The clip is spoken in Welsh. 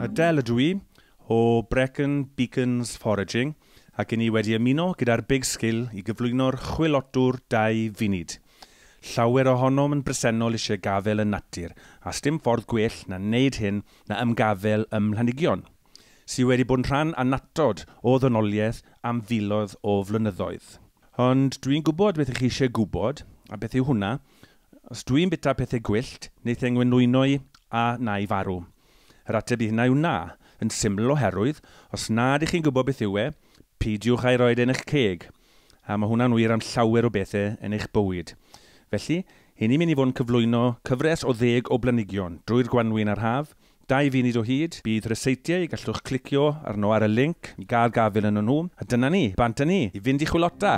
Adele ydw i o Brecon Beacons Foraging ac i ni wedi ymuno gyda'r Big Skill i gyflwyno'r chwilotwr 2 funud. Llawer ohonom yn bresennol eisiau gafel yn natur, a sdim ffordd gwell na wneud hyn na ymgafel ym mhlanigion, sydd wedi bod yn rhan annatod o ddynoliaeth am filoedd o flynyddoedd. Ond dwi'n gwybod beth ych chi eisiau gwybod, a beth yw hwnna. Os dwi'n bita pethau gwyllt, wneith e ngwenwyno i a na i farw. Yr ateb i hynna yw na, yn syml oherwydd, os nad ych chi'n gwybod beth yw e, peidiwch â'i roed yn eich ceg. A mae hwnna'n wir am llawer o bethau yn eich bywyd. Felly, hyn ni'n mynd i fod yn cyflwyno cyfres o 10 o blanigion drwy'r gwanwyn a'r haf, 2 funud o hyd, bydd ryseitiau, gallwch clicio arno ar y link i gael gafel yn nhw. A dyna ni, bant â ni, i fynd i chwilota.